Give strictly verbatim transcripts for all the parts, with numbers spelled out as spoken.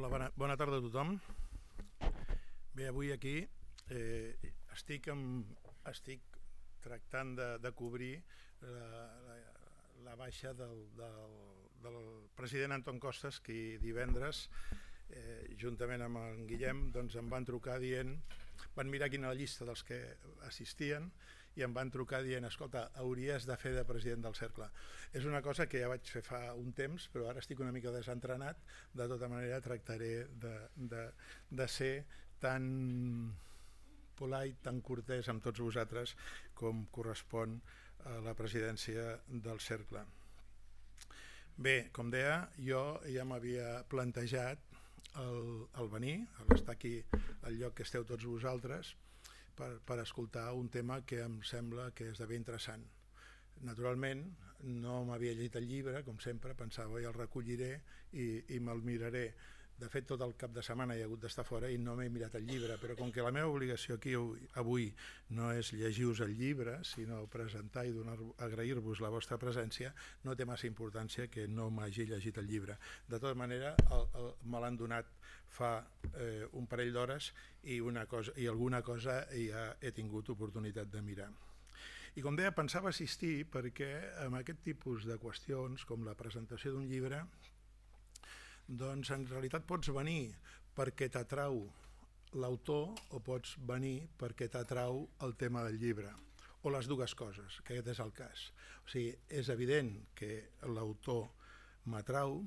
Hola, bona, bona tarda a tothom. Bé, avui aquí eh, estic, amb, estic tractant de, de cobrir la, la, la baixa del, del, del president Anton Costas, que divendres, eh, juntament amb en Guillem, doncs em van trucar dient, van mirar quina la llista dels que assistien i em van trucar dient, escolta, hauries de fer de president del cercle. És una cosa que ja vaig fer fa un temps, però ara estic una mica desentrenat. De tota manera tractaré de, de, de ser tan polite, tan cortès amb tots vosaltres com correspon a la presidència del cercle. Bé, com deia, jo ja m'havia plantejat el, el venir, l'estar aquí al lloc que esteu tots vosaltres, per, per escoltar un tema que em sembla que és de ben interessant. Naturalment, no m'havia llegit el llibre, com sempre, pensava ja el recolliré i, i me'l miraré. De fet, tot el cap de setmana he hagut d'estar fora i no m'he mirat el llibre, però com que la meva obligació aquí avui no és llegir-vos el llibre, sinó presentar i agrair-vos la vostra presència, no té massa importància que no m'hagi llegit el llibre. De tota manera, el, el, me l'han donat fa eh, un parell d'hores i, una cosa, i alguna cosa ja he tingut oportunitat de mirar. I com deia, pensava assistir perquè amb aquest tipus de qüestions, com la presentació d'un llibre, doncs en realitat pots venir perquè t'atrau l'autor o pots venir perquè t'atrau el tema del llibre, o les dues coses, que aquest és el cas. O sigui, és evident que l'autor m'atrau,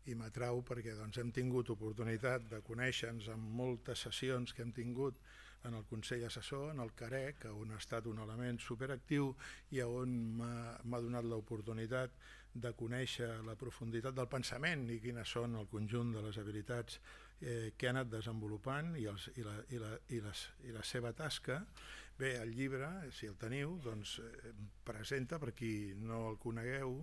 i m'atrau perquè doncs, hem tingut oportunitat de conèixer-nos en moltes sessions que hem tingut en el Consell Assessor, en el CAREC, on ha estat un element superactiu i on m'ha donat l'oportunitat de conèixer la profunditat del pensament i quines són el conjunt de les habilitats eh, que ha anat desenvolupant i, els, i, la, i, la, i, les, i la seva tasca. Bé, el llibre, si el teniu, doncs, eh, presenta, per qui no el conegueu,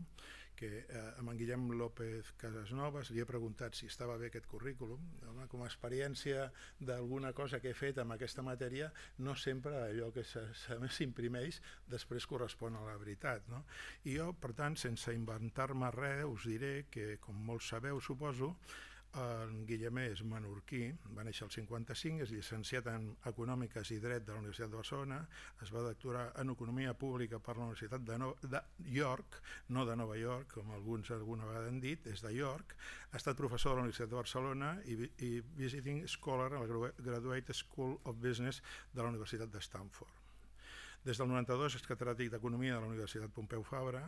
que eh, amb en Guillem López Casasnovas li he preguntat si estava bé aquest currículum. Home, com a experiència d'alguna cosa que he fet amb aquesta matèria, no sempre allò que s'imprimeix després correspon a la veritat, no? I jo, per tant, sense inventar-me res, us diré que, com molts sabeu, suposo, en Guillem és menorquí, va néixer al cinquanta-cinc, és llicenciat en Econòmiques i Dret de la Universitat de Barcelona, es va doctorar en Economia Pública per la Universitat de, no de York, no de Nova York, com alguns alguna vegada han dit, és de York, ha estat professor de la Universitat de Barcelona i, i visiting scholar a la Graduate School of Business de la Universitat de Stanford. Des del noranta-dos és catedràtic d'Economia de la Universitat Pompeu Fabra,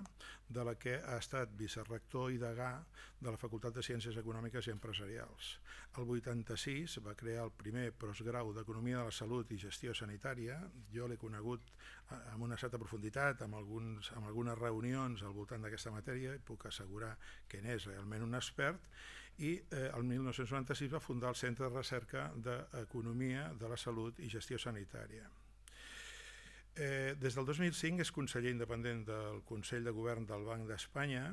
de la que ha estat vicerector i degà de la Facultat de Ciències Econòmiques i Empresarials. El vuitanta-sis va crear el primer postgrau d'Economia de la Salut i Gestió Sanitària. Jo l'he conegut amb una certa profunditat, amb, alguns, amb algunes reunions al voltant d'aquesta matèria, i puc assegurar que n'és realment un expert, i eh, el mil nou-cents noranta-sis va fundar el Centre de Recerca d'Economia de la Salut i Gestió Sanitària. Eh, des del dos mil cinc és conseller independent del Consell de Govern del Banc d'Espanya,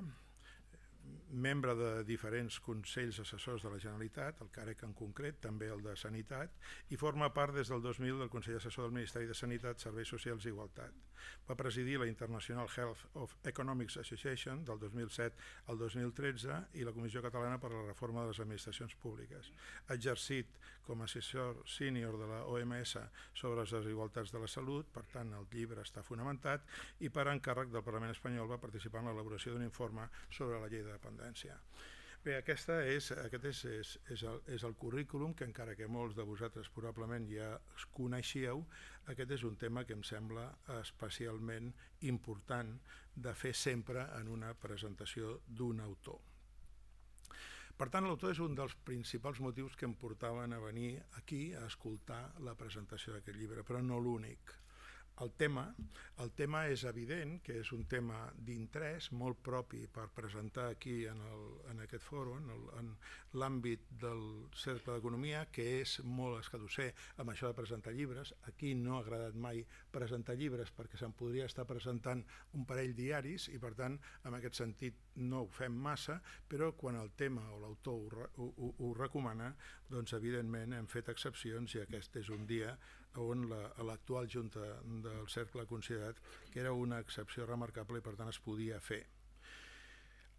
membre de diferents consells assessors de la Generalitat, el CAREC en concret, també el de Sanitat, i forma part des del dos mil del Consell Assessor del Ministeri de Sanitat, Serveis Socials i Igualtat. Va presidir la International Health of Economics Association del dos mil set al dos mil tretze i la Comissió Catalana per a la Reforma de les Administracions Públiques. Ha exercit com a assessor sènior de la O M S sobre les desigualtats de la salut, per tant el llibre està fonamentat, i per encàrrec del Parlament espanyol va participar en l'elaboració d'un informe sobre la llei de dependència. Bé, aquesta és, aquest és, és, és, el, és el currículum que, encara que molts de vosaltres probablement ja coneixíeu, aquest és un tema que em sembla especialment important de fer sempre en una presentació d'un autor. Per tant, l'autor és un dels principals motius que em portaven a venir aquí a escoltar la presentació d'aquest llibre, però no l'únic. El tema, el tema és evident que és un tema d'interès molt propi per presentar aquí en, el, en aquest fòrum, en, en l'àmbit del Cercle d'Economia, que és molt escadusser amb això de presentar llibres. Aquí no ha agradat mai presentar llibres perquè se'n podria estar presentant un parell diaris i per tant en aquest sentit no ho fem massa, però quan el tema o l'autor ho, ho, ho recomana, doncs evidentment hem fet excepcions i aquest és un dia on l'actual Junta del Cercle ha considerat que era una excepció remarcable i per tant es podia fer.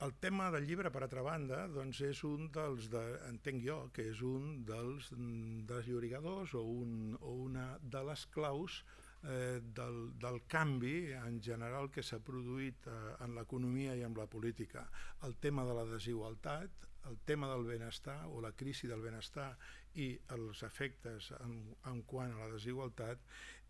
El tema del llibre, per altra banda, doncs és un dels, de, entenc jo, que és un dels desllorigadors o, un, o una de les claus eh, del, del canvi en general que s'ha produït eh, en l'economia i en la política. El tema de la desigualtat, el tema del benestar o la crisi del benestar i els efectes en, en quant a la desigualtat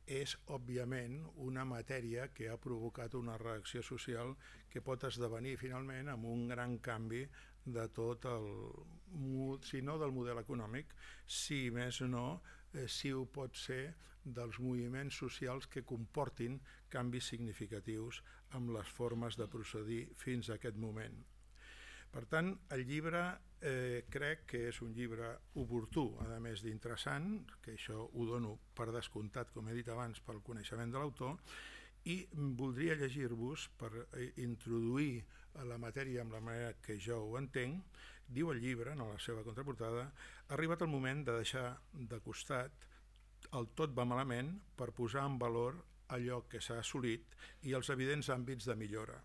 és, òbviament, una matèria que ha provocat una reacció social que pot esdevenir, finalment, amb un gran canvi de tot el, si no del model econòmic, si més no, eh, si ho pot ser dels moviments socials que comportin canvis significatius amb les formes de procedir fins a aquest moment. Per tant, el llibre eh, crec que és un llibre oportú, a més d'interessant, que això ho dono per descomptat, com he dit abans, pel coneixement de l'autor, i voldria llegir-vos, per introduir la matèria amb la manera que jo ho entenc. Diu el llibre, en la seva contraportada, ha arribat el moment de deixar de costat el tot va malament per posar en valor allò que s'ha assolit i els evidents àmbits de millora.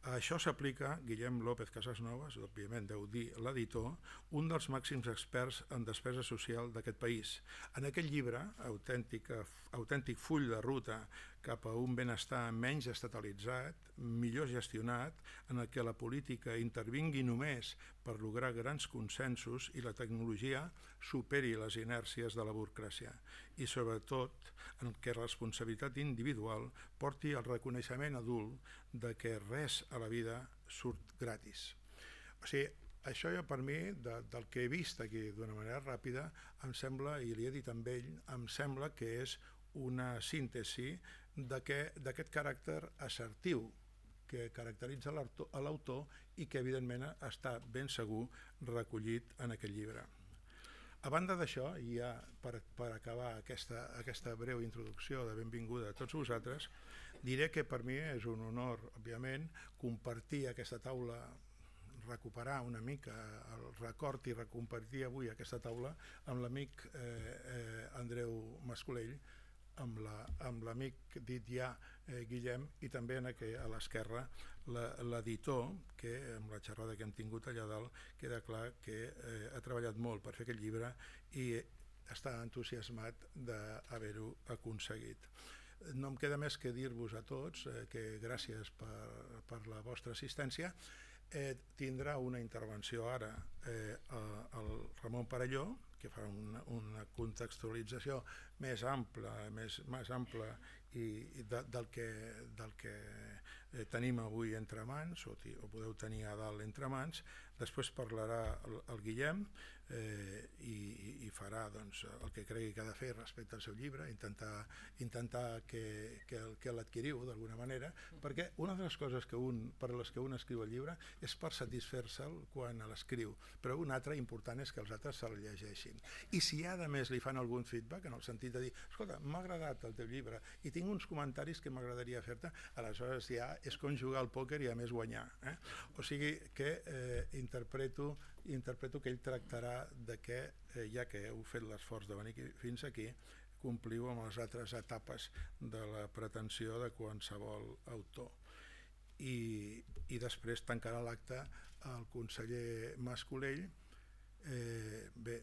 A això s'aplica Guillem López Casasnovas, òbviament deu dir l'editor, un dels màxims experts en despesa social d'aquest país. En aquest llibre, autèntic, autèntic full de ruta cap a un benestar menys estatalitzat, millor gestionat, en el que la política intervingui només per lograr grans consensos i la tecnologia superi les inèrcies de la burocràcia i, sobretot, en què la responsabilitat individual porti al reconeixement adult de que res a la vida surt gratis. O sigui, això ja per mi, de, del que he vist aquí d'una manera ràpida, em sembla, i li he dit amb ell, em sembla que és una síntesi d'aquest caràcter assertiu que caracteritza l'autor i que evidentment està ben segur recollit en aquest llibre. A banda d'això, i ja per, per acabar aquesta, aquesta breu introducció de benvinguda a tots vosaltres, diré que per mi és un honor, òbviament, compartir aquesta taula, recuperar una mica el record i recompartir avui aquesta taula amb l'amic eh, eh, Andreu Mascolell, amb l'amic dit ja eh, Guillem, i també en aqu- a l'esquerra l'editor, que amb la xerrada que hem tingut allà dalt queda clar que eh, ha treballat molt per fer aquest llibre i està entusiasmat d'haver-ho aconseguit. No em queda més que dir-vos a tots eh, que gràcies per, per la vostra assistència. Eh, tindrà una intervenció ara eh, el Ramon Parelló, que farà una, una contextualització més ampla, més, més ampla i, i de, del que, del que eh, tenim avui entre mans, o, o podeu tenir a dalt entre mans. Després parlarà el, el Guillem eh, i, i farà doncs, el que cregui que ha de fer respecte al seu llibre, intentar, intentar que, que, que l'adquiriu d'alguna manera, perquè una de les coses que un, per les que un escriu el llibre és per satisfer-se'l quan l'escriu, però una altra important és que els altres se'l llegeixin. I si a més li fan algun feedback, en el sentit de dir, escolta, m'ha agradat el teu llibre i tinc uns comentaris que m'agradaria fer-te, aleshores ja és com jugar al pòquer i a més guanyar. Eh? O sigui que eh, interpreto, interpreto que ell tractarà de que, eh, ja que heu fet l'esforç de venir fins aquí, compliu amb les altres etapes de la pretensió de qualsevol autor. I, i després tancarà l'acte el conseller Mascolell, eh, bé,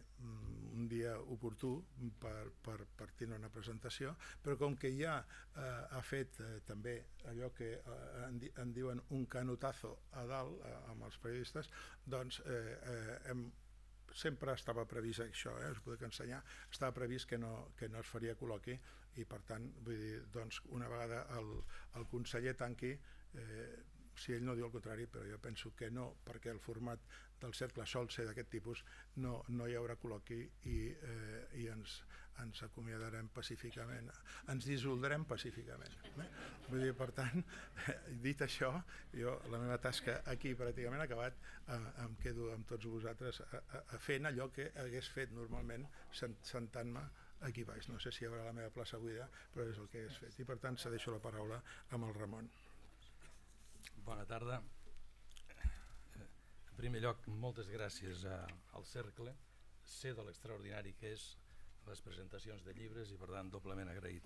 un dia oportú per, per, per tenir una presentació, però com que ja eh, ha fet eh, també allò que eh, en, en diuen un canotazo a dalt eh, amb els periodistes, doncs eh, eh, hem, sempre estava previst això, eh, us puc ensenyar, estava previst que no, que no es faria col·loqui i per tant, vull dir, doncs, una vegada el, el conseller tanqui, eh, si ell no diu el contrari, però jo penso que no, perquè el format del cercle sol ser d'aquest tipus, no, no hi haurà col·loqui i, eh, i ens, ens acomiadarem pacíficament, ens dissoldrem pacíficament. Eh? Vull dir, per tant, dit això, jo la meva tasca aquí pràcticament ha acabat, eh, em quedo amb tots vosaltres a, a, a fent allò que hagués fet normalment sentant-me aquí baix. No sé si hi haurà la meva plaça buida, però és el que hagués fet. I per tant, cedeixo la paraula amb el Ramon. Bona tarda. En primer lloc, moltes gràcies a, al Cercle. Sé de l'extraordinari que és les presentacions de llibres i per tant doblement agraït.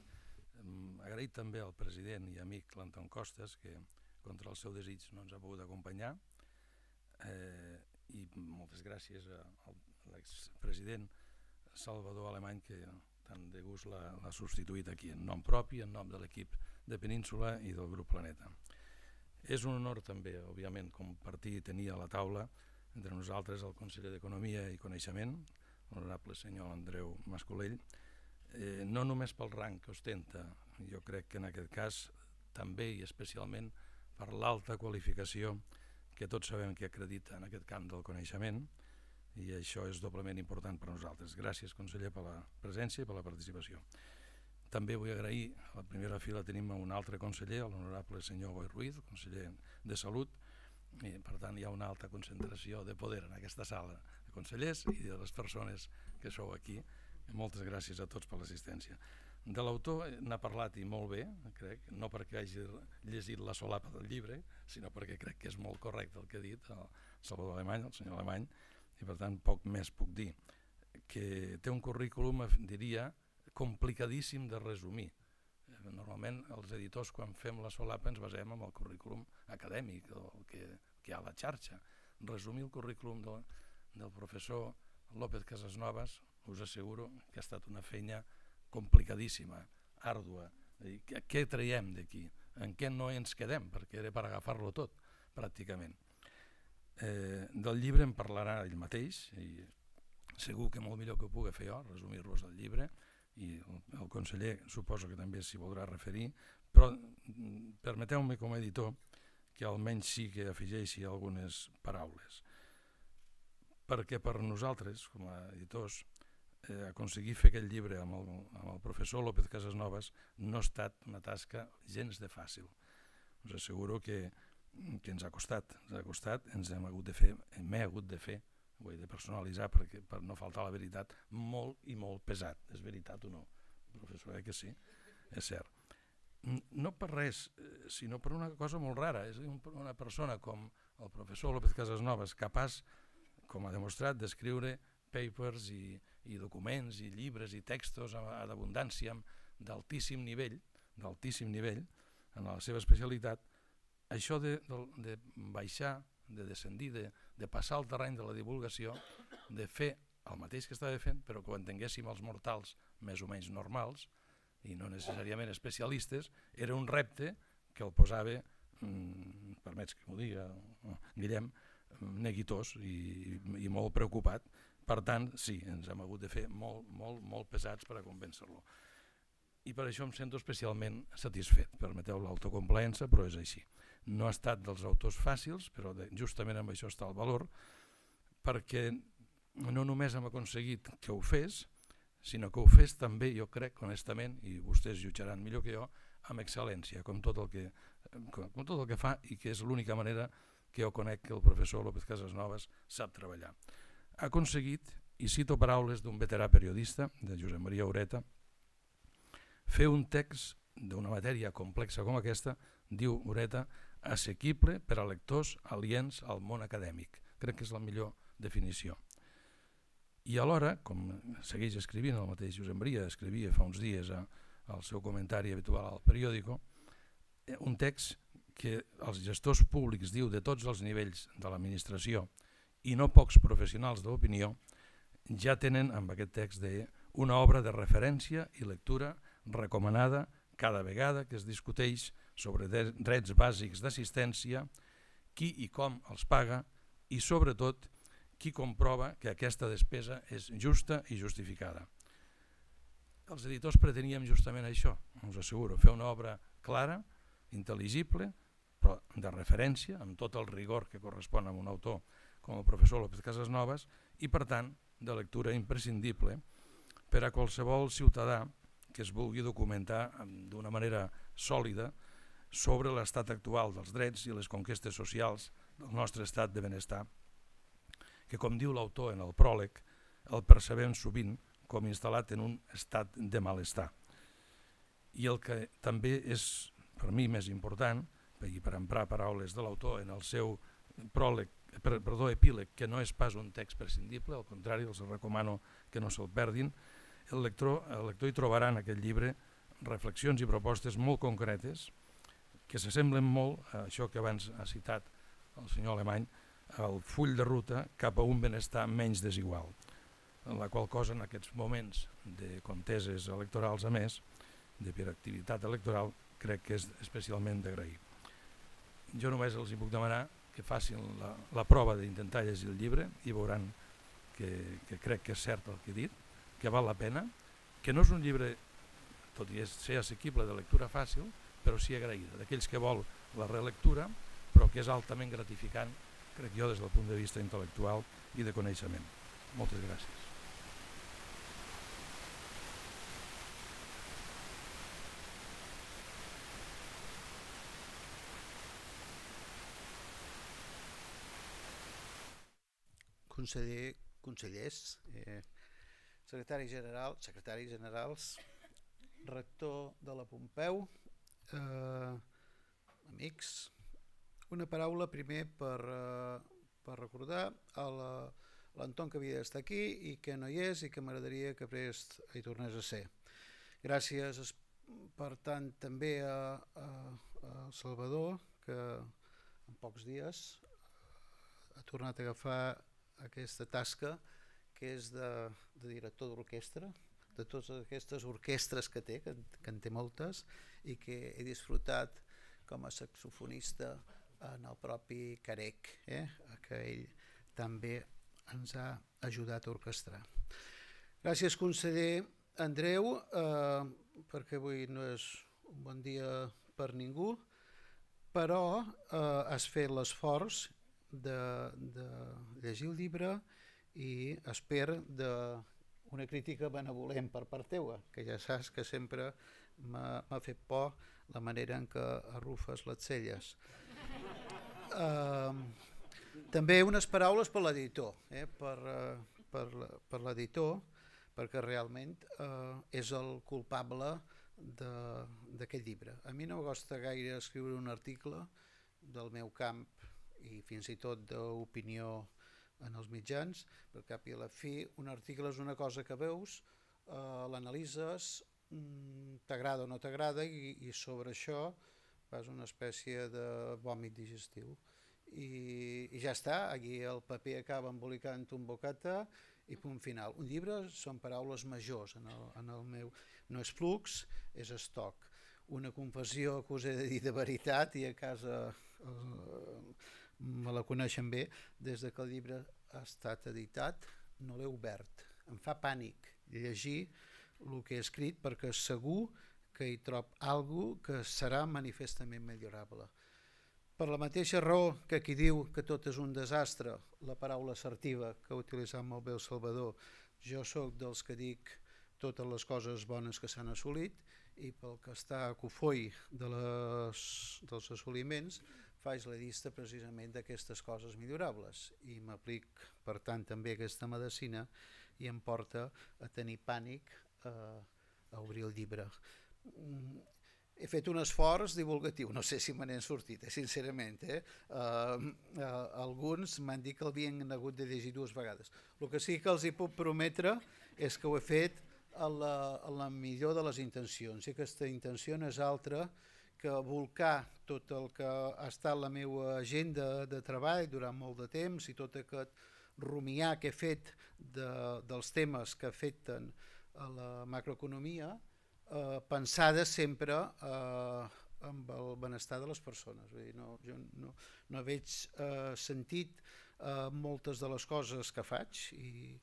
Um, agraït també al president i amic l'Anton Costas, que contra el seu desig no ens ha pogut acompanyar, eh, i moltes gràcies a l'expresident Salvador Alemany, que tant de gust l'ha substituït aquí, en nom propi, en nom de l'equip de Península i del grup Planeta. És un honor també, òbviament, compartir i tenir a la taula entre nosaltres el conseller d'Economia i Coneixement, l'honorable senyor Andreu Mascolell, eh, no només pel rang que ostenta, jo crec que en aquest cas també i especialment per l'alta qualificació que tots sabem que acredita en aquest camp del coneixement, i això és doblement important per a nosaltres. Gràcies, conseller, per la presència i per la participació. També vull agrair, a la primera fila tenim un altre conseller, l'honorable senyor Boi Ruiz, conseller de Salut, i per tant hi ha una alta concentració de poder en aquesta sala de consellers i de les persones que sou aquí. Moltes gràcies a tots per l'assistència. De l'autor n'ha parlat i molt bé, crec, no perquè hagi llegit la solapa del llibre, sinó perquè crec que és molt correcte el que ha dit el Salvador Alemany, el senyor Alemany, i per tant poc més puc dir. Que té un currículum, diria, complicadíssim de resumir. Normalment els editors, quan fem la solapa, ens basem en el currículum acadèmic, el que, que hi ha a la xarxa. Resumir el currículum del, del professor López Casasnovas, us asseguro que ha estat una feina complicadíssima, àrdua. Què, què traiem d'aquí? En què no ens quedem? Perquè era per agafar-lo tot, pràcticament. Eh, del llibre en parlarà ell mateix, i segur que molt millor que ho pugui fer jo, resumir-vos el llibre, i el, el conseller suposo que també s'hi voldrà referir, però permeteu-me com a editor que almenys sí que afegeixi algunes paraules. Perquè per nosaltres, com a editors, eh, aconseguir fer aquest llibre amb el, amb el professor López Casasnovas no ha estat una tasca gens de fàcil. Us asseguro que, que ens ha costat, ens ha costat, ens hem hagut de fer, m'he hagut de fer, ho he de personalitzar perquè, per no faltar la veritat, molt i molt pesat. És veritat o no, professor? Eh que sí? És cert. No per res, sinó per una cosa molt rara. És una persona com el professor López Casasnovas, capaç, com ha demostrat, d'escriure papers i, i documents i llibres i textos ad abundància d'altíssim nivell, d'altíssim nivell, en la seva especialitat. Això de, de, de baixar, de descendir, de, de passar al terreny de la divulgació, de fer el mateix que estava fent, però que ho entenguéssim els mortals més o menys normals, i no necessàriament especialistes, era un repte que el posava, mm, permets que m'ho diga, Guillem, neguitós i, i molt preocupat. Per tant, sí, ens hem hagut de fer molt, molt, molt pesats per a convèncer-lo. I per això em sento especialment satisfet. Permeteu l'autocomplaença, però és així. No ha estat dels autors fàcils, però de, justament amb això està el valor, perquè no només hem aconseguit que ho fes, sinó que ho fes també, jo crec, honestament, i vostès jutjaran millor que jo, amb excel·lència, com tot el que, com, com tot el que fa, i que és l'única manera que jo conec que el professor López Casasnovas sap treballar. Ha aconseguit, i cito paraules d'un veterà periodista, de Josep Maria Ureta, fer un text d'una matèria complexa com aquesta, diu Ureta, assequible per a lectors aliens al món acadèmic. Crec que és la millor definició. I alhora, com segueix escrivint el mateix Josep Maria, escrivia fa uns dies a, al seu comentari habitual al periòdico, un text que els gestors públics, diu, de tots els nivells de l'administració i no pocs professionals de l'opinió, ja tenen amb aquest text de una obra de referència i lectura recomanada cada vegada que es discuteix sobre drets bàsics d'assistència, qui i com els paga i, sobretot, qui comprova que aquesta despesa és justa i justificada. Els editors preteníem justament això, us asseguro, fer una obra clara, intel·ligible, però de referència, amb tot el rigor que correspon a un autor com el professor López Casasnovas, i, per tant, de lectura imprescindible per a qualsevol ciutadà que es vulgui documentar d'una manera sòlida sobre l'estat actual dels drets i les conquestes socials del nostre estat de benestar, que, com diu l'autor en el pròleg, el percebem sovint com instal·lat en un estat de malestar. I el que també és, per mi, més important, i per emprar paraules de l'autor en el seu pròleg, perdó, epíleg, que no és pas un text prescindible, al contrari, els recomano que no se'l perdin, el lector, el lector hi trobarà en aquest llibre reflexions i propostes molt concretes que s'assemblen molt a això que abans ha citat el senyor Alemany, el full de ruta cap a un benestar menys desigual, la qual cosa en aquests moments de conteses electorals, a més, de per activitat electoral, crec que és especialment d'agrair. Jo només els hi puc demanar que facin la, la prova d'intentar llegir el llibre i veuran que, que crec que és cert el que he dit, que val la pena, que no és un llibre, tot i ser assequible, de lectura fàcil, però sí agraïda, d'aquells que vol la relectura, però que és altament gratificant, crec jo, des del punt de vista intel·lectual i de coneixement. Moltes gràcies. Conseller, consellers, eh, secretari general, secretaris generals, rector de la Pompeu, eh, amics, una paraula primer per, eh, per recordar a l'Anton que havia d'estar aquí i que no hi és i que m'agradaria que prest hi tornés a ser. Gràcies per tant també a, a, a Salvador, que en pocs dies ha tornat a agafar aquesta tasca que és de, de director d'orquestra, de totes aquestes orquestres que té, que, que en té moltes, i que he disfrutat com a saxofonista en el propi Carec, eh? Que ell també ens ha ajudat a orquestrar. Gràcies, conseller Andreu, eh, perquè avui no és un bon dia per ningú, però eh, has fet l'esforç de, de llegir el llibre i espero d'una crítica benevolent per part teua, que ja saps que sempre m'ha fet por la manera en què arrufes les celles. Uh, també unes paraules per l'editor, eh, per, uh, per, per l'editor, perquè realment uh, és el culpable d'aquest llibre. A mi no em costa gaire escriure un article del meu camp i fins i tot d'opinió en els mitjans, per cap i a la fi un article és una cosa que veus, uh, l'analitzes, mm, t'agrada o no t'agrada i, i sobre això fas una espècie de vòmit digestiu. I, i ja està, aquí el paper acaba embolicant un bocata i punt final. Un llibre són paraules majors en el, en el meu, no és flux, és estoc. Una confessió que us he de dir de veritat i a casa eh, me la coneixen bé, des que el llibre ha estat editat no l'he obert. Em fa pànic llegir el que he escrit perquè segur que hi trob alguna cosa que serà manifestament millorable. Per la mateixa raó que qui diu que tot és un desastre, la paraula assertiva que ha utilitzat molt bé el Salvador, jo sóc dels que dic totes les coses bones que s'han assolit i pel que està a cofoi de les, dels assoliments faig la llista precisament d'aquestes coses millorables i m'aplic per tant també aquesta medicina i em porta a tenir pànic a, a obrir el llibre. He fet un esforç divulgatiu, no sé si me n'he sortit, eh, sincerament. Eh? Uh, uh, alguns m'han dit que l'havien hagut de llegir dues vegades. El que sí que els hi puc prometre és que ho he fet a la, a la millor de les intencions i aquesta intenció no és altra que volcar tot el que ha estat la meva agenda de treball durant molt de temps i tot aquest rumiar que he fet de, dels temes que afecten a la macroeconomia, eh, pensada sempre eh, amb el benestar de les persones. Vull dir, no, jo no, no veig eh, sentit eh, moltes de les coses que faig i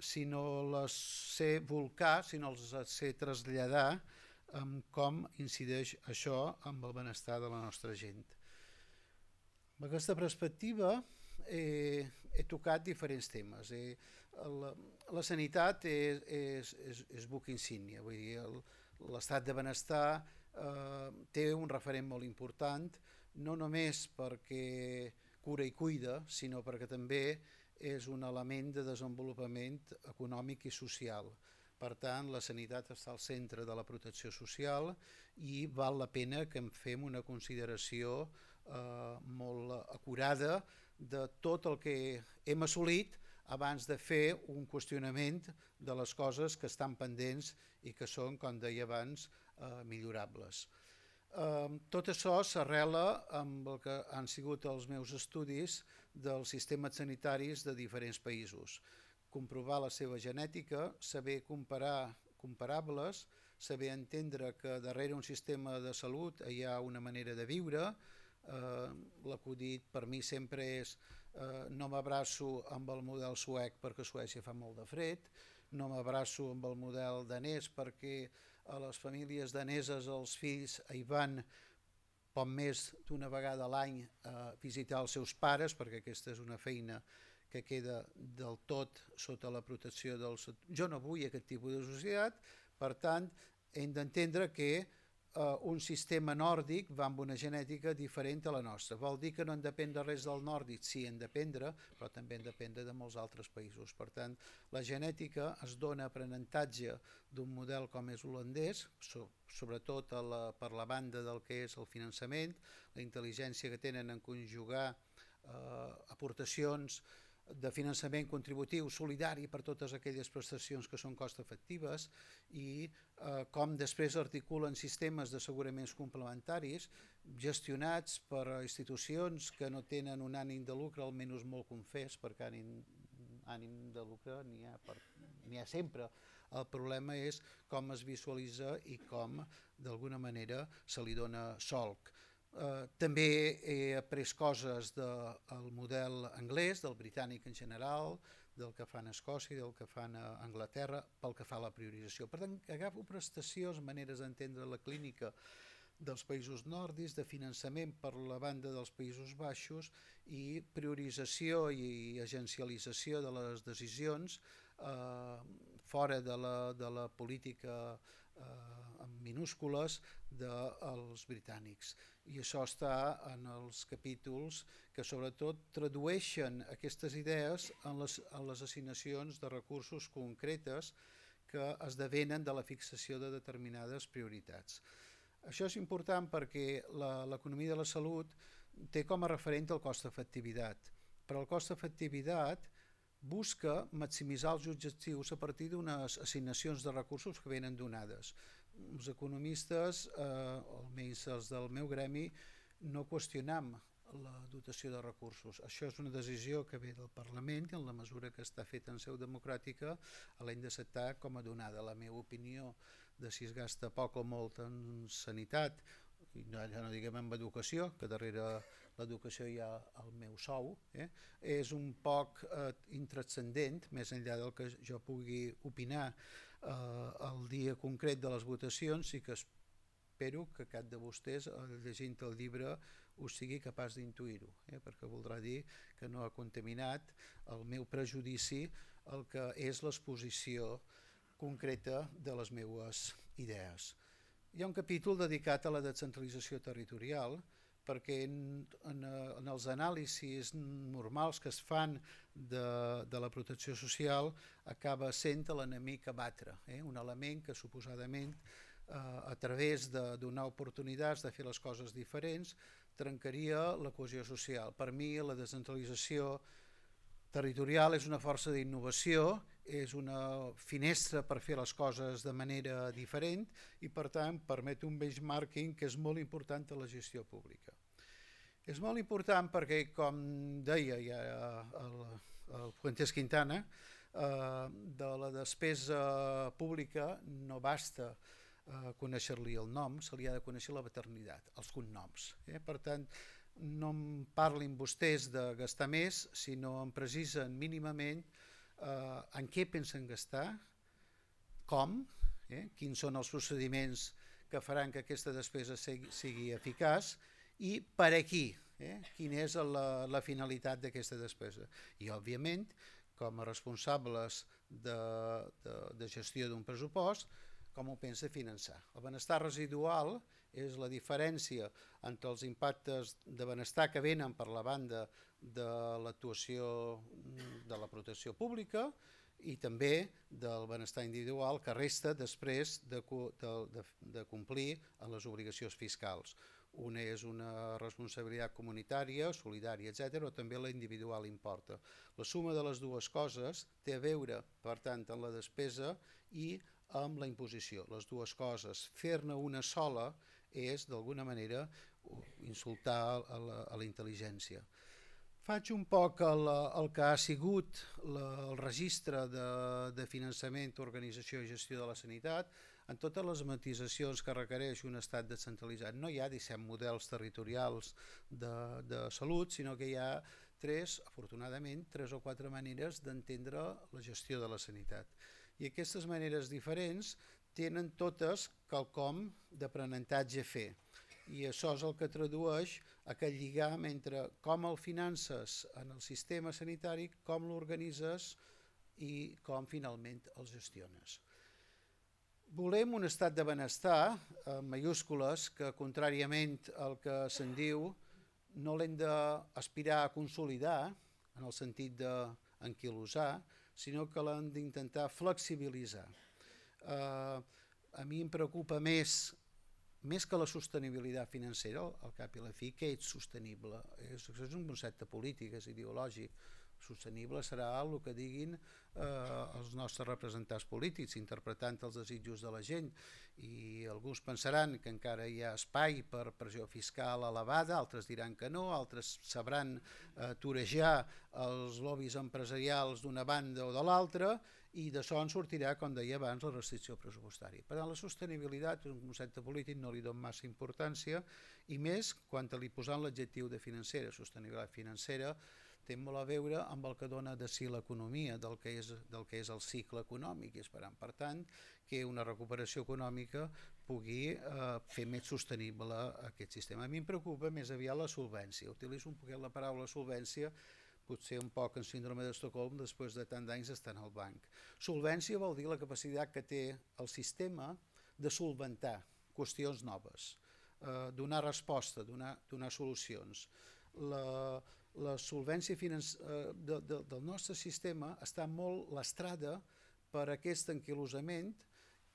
si no les sé volcar, si no les sé traslladar, amb com incideix això amb el benestar de la nostra gent. Amb aquesta perspectiva he, he tocat diferents temes. He, la, la sanitat és, és, és, és buc insígnia, vull dir, l'estat de benestar eh, té un referent molt important, no només perquè cura i cuida, sinó perquè també és un element de desenvolupament econòmic i social. Per tant, la sanitat està al centre de la protecció social i val la pena que en fem una consideració eh, molt acurada de tot el que hem assolit abans de fer un qüestionament de les coses que estan pendents i que són, com deia abans, eh, millorables. Tot això s'arrela amb el que han sigut els meus estudis dels sistemes sanitaris de diferents països. Comprovar la seva genètica, saber comparar comparables, saber entendre que darrere un sistema de salut hi ha una manera de viure. L'acudit per mi sempre és no m'abraço amb el model suec perquè a Suècia fa molt de fred, no m'abraço amb el model danès perquè a les famílies daneses els fills hi van poc més d'una vegada a l'any a visitar els seus pares, perquè aquesta és una feina que queda del tot sota la protecció del... Jo no vull aquest tipus de societat, per tant, hem d'entendre que un sistema nòrdic va amb una genètica diferent a la nostra. Vol dir que no en depèn de res del nòrdic? Sí, en dependre, però també en dependre de molts altres països. Per tant, la genètica es dona aprenentatge d'un model com és holandès, sobretot per la banda del que és el finançament, la intel·ligència que tenen en conjugar aportacions de finançament contributiu solidari per totes aquelles prestacions que són cost efectives i com després articulen sistemes d'asseguraments complementaris gestionats per institucions que no tenen un ànim de lucre, almenys molt confés, perquè ànim de lucre n'hi ha sempre. El problema és com es visualitza i com d'alguna manera se li dona solc. També he après coses del model anglès, del britànic en general, del que fan a Escòcia, del que fan a Anglaterra, pel que fa a la priorització. Per tant, agafo prestacions, maneres d'entendre la clínica dels països nòrdics, de finançament per la banda dels Països Baixos i priorització i agencialització de les decisions fora de la política en minúscules dels britànics. I això està en els capítols que sobretot tradueixen aquestes idees en les assignacions de recursos concretes que esdevenen de la fixació de determinades prioritats. Això és important perquè l'economia de la salut té com a referent el cost efectivitat, però el cost efectivitat busca maximitzar els objectius a partir d'unes assignacions de recursos que venen donades. Els economistes, almenys els del meu gremi, no qüestionam la dotació de recursos. Això és una decisió que ve del Parlament i en la mesura que està feta en seu democràtica l'hem d'acceptar com a donada. La meva opinió de si es gasta poc o molt en sanitat, ja no diguem en educació, que darrere l'educació hi ha el meu sou, és un poc intranscendent, més enllà del que jo pugui opinar el dia concret de les votacions i que espero que cap de vostès, llegint el llibre, us sigui capaç d'intuir-ho, perquè voldrà dir que no ha contaminat el meu prejudici el que és l'exposició concreta de les meves idees. Hi ha un capítol dedicat a la descentralització territorial perquè en els anàlisis normals que es fan de la protecció social acaba sent l'enemic a batre, un element que suposadament a través de donar oportunitats de fer les coses diferents trencaria la cohesió social. Per mi la descentralització territorial és una força d'innovació, és una finestra per fer les coses de manera diferent i per tant permet un benchmarking que és molt important a la gestió pública. És molt important perquè, com deia ja el Fuentes Quintana, de la despesa pública no basta conèixer-li el nom, se li ha de conèixer la paternitat, els cognoms. Per tant, no em parlin vostès de gastar més, sinó em precisen mínimament en què pensen gastar, com, quins són els procediments que faran que aquesta despesa sigui eficaç i per a qui, quina és la finalitat d'aquesta despesa. I, òbviament, com a responsables de gestió d'un pressupost, com ho pensa finançar. El benestar residual és la diferència entre els impactes de benestar que venen per la banda de l'actuació de la protecció pública i també del benestar individual que resta després de complir amb les obligacions fiscals. Una és una responsabilitat comunitària, solidària, etcètera, però també la individual importa. La suma de les dues coses té a veure, per tant, amb la despesa i amb la imposició. Les dues coses, fer-ne una sola és d'alguna manera insultar a la, a la intel·ligència. Faig un poc el, el que ha sigut la, el registre de, de finançament, organització i gestió de la sanitat, en totes les matisacions que requereix un estat descentralitzat. No hi ha disset models territorials de, de salut, sinó que hi ha tres, afortunadament, tres o quatre maneres d'entendre la gestió de la sanitat. I aquestes maneres diferents tenen totes quelcom d'aprenentatge a fer. I això és el que tradueix aquest lligam entre com el finances en el sistema sanitari, com l'organitzes i com finalment el gestiones. Volem un estat de benestar, en mayúscules, que contràriament al que se'n diu, no l'hem d'aspirar a consolidar, en el sentit d'enquilosar, sinó que l'hem d'intentar flexibilitzar. Eh, a mi em preocupa més, més que la sostenibilitat financera, al cap i a la fi, que és sostenible. És, és un concepte polític, és ideològic. Sostenible serà el que diguin eh, els nostres representants polítics, interpretant els desitjos de la gent, i alguns pensaran que encara hi ha espai per pressió fiscal elevada, altres diran que no, altres sabran eh, torejar els lobbies empresarials d'una banda o de l'altra, i d'això en sortirà, com deia abans, la restricció pressupostària. Per tant, la sostenibilitat és un concepte polític, no li dono massa importància, i més quan li posant l'adjectiu de financera. Sostenibilitat financera té molt a veure amb el que dona de si l'economia, del, que és, del que és el cicle econòmic, i esperant, per tant, que una recuperació econòmica pugui eh, fer més sostenible aquest sistema. A mi em preocupa més aviat la solvència. Utilitzo un poquet la paraula solvència, potser un poc en síndrome d'Estocolm, després de tant d'anys estar al banc. Solvència vol dir la capacitat que té el sistema de solventar qüestions noves, eh, donar resposta, donar, donar solucions. La, la solvència financer, de, de, del nostre sistema està molt lastrada per aquest anquilosament